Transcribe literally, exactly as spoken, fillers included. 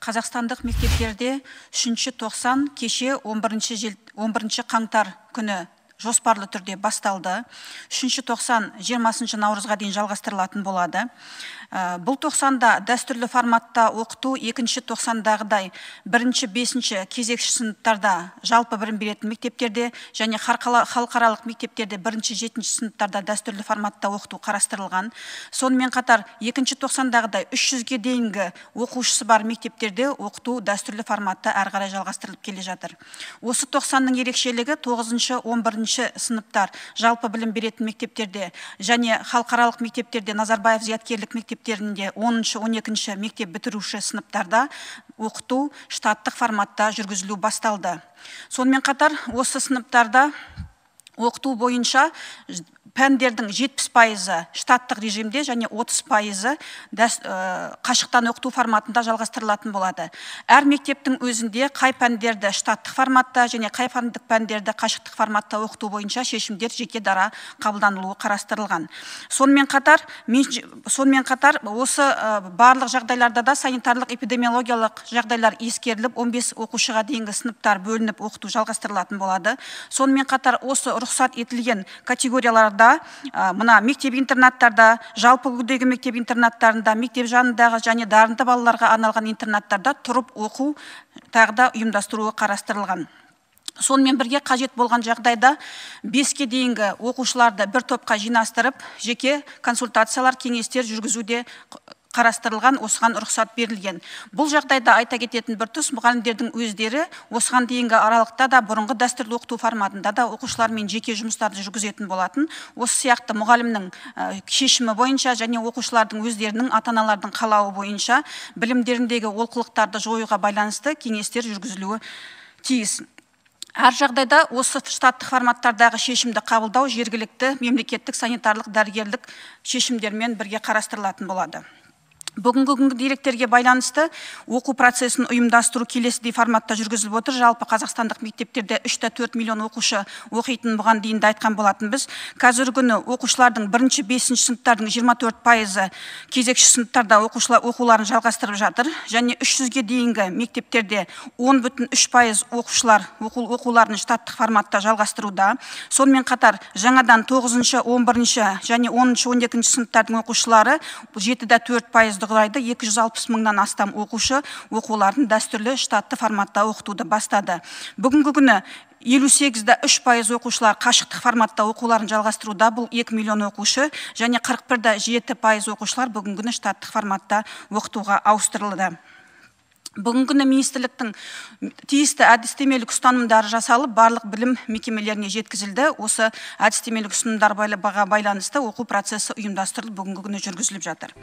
Қазақстандық мектептерде үшінші тоқсан кеше он бірінші қаңтар күні жоспарлы түрде басталды. үшінші тоқсан жиырмасыншы наурызға дейін жалғастырылатын болады. Бұл тоқсанда дәстүрлі форматта оқыту екінші тоқсандағыдай бірінші бесінші кезекші сыныптарда жалпы білім беретін мектептерде және халықаралық мектептерде бірінші жетінші сыныптарда дәстүрлі форматта оқыту қарастырылған. Сонымен қатар екінші тоқсандағыдай үш жүзге дейінгі оқушысы бар мектептерде оқыту дәстүрлі форматта әрі қарай жалғастырылып келе жатыр. Осы тоқсанның ерекшелігі тоғызыншы он бірінші сыныптар жалпы білім беретін мектептерде және халықаралық мектептерде Назарбаев зияткерлік мектептерінде оныншы он екінші мектеп бітіруші сыныптарда оқыту штаттық форматта жүргізілу басталды. Сонымен қатар осы сыныптарда оқыту бойынша пәндердің жетпіс пайызы штаттық режимде және отыз пайызы қашықтан оқыту форматында жалғастырылатын болады. Әр мектептің өзінде қай пәндерді штаттық форматта және қай пәндерді қашықтық форматта оқыту бойынша шешімдер жеке дара қабылданылуы қарастырылған. Сонымен қатар, сонымен қатар осы барлық жағдайларда да санитарлық эпидемиологиялық жағдайлар ескеріліп, он бес оқушыға дейінгі сыныптар бөлініп оқыту жалғастырылатын болады. Сонымен қатар осы рұқсат етілген категорияларда мына мектеп интернаттарда, жалпы үлгідегі мектеп интернаттарында, мектеп жанындағы және дарынды балаларға арналған интернаттарда тұрып оқу тағы да ұйымдастыруы қарастырылған. Сонымен бірге қажет болған жағдайда беске дейінгі оқушыларды бір топқа жинастырып, жеке консультациялар, кеңестер жүргізуде қарастырылған, осыған рұқсат берілген. Бұл жағдайда айта кететін бір тұс, мұғалімдердің өздері осыған дейінгі аралықта да бұрынғы дәстүрлі оқыту форматында да оқушылармен жеке жұмыстарды жүргізетін болатын. Осы сияқты мұғалімнің шешімі бойынша және оқушылардың өздерінің ата-аналардың қалауы бойынша білімдеріндегі олқылықтарды жоюға байланысты кеңестер жүргізілуі тиіс. Әр жағдайда осы штаттық форматтардағы шешімді қабылдау жергілікті мемлекеттік санитарлық дәрігерлік шешімдермен бірге қарастырылатын болады. Бүгінгі күнгі деректерге байланысты оқу процесін ұйымдастыру келесідей форматта жүргізіліп отыр. Жалпы қазақстандық мектептерде үш те төрт миллион оқушы оқитын, бұған дейін де айтқан болатын біз. Қазіргі күні оқушылардың бірінші бесінші сыныптардың жиырма төрт пайызы кезекші сыныптарда оқушылар оқуларын жалғастырып жатыр. Және үш жүзге дейінгі мектептерде он бүтін үш пайыз оқушылар оқуларын штаттық форматта жалғастыруда. Сонымен қатар жаңадан тоғызыншы он бірінші және оныншы он екінші сыныптардың оқушылары жеті де төрт пайыз құрайды. екі жүз алпыс мыңнан астам оқушы оқуларын дәстүрлі штатты форматта оқытуды бастады. Бүгінгі күні елу сегіз де үш пайыз оқушылар қашықтық форматта оқуларын жалғастыруда. Бұл екі миллион оқушы және қырық бір де жеті пайыз оқушылар бүгінгі күні штаттық форматта оқытуға ауыстырылды. Бүгінгі күні министрліктің тиісті әдістемелік ұстанымдары жасалып, барлық білім мекемелеріне жеткізілді. Осы әдістемелік ұстанымдар байланысты оқу процесі ұйымдастырылып, бүгінгі күні жүргізіліп жатыр.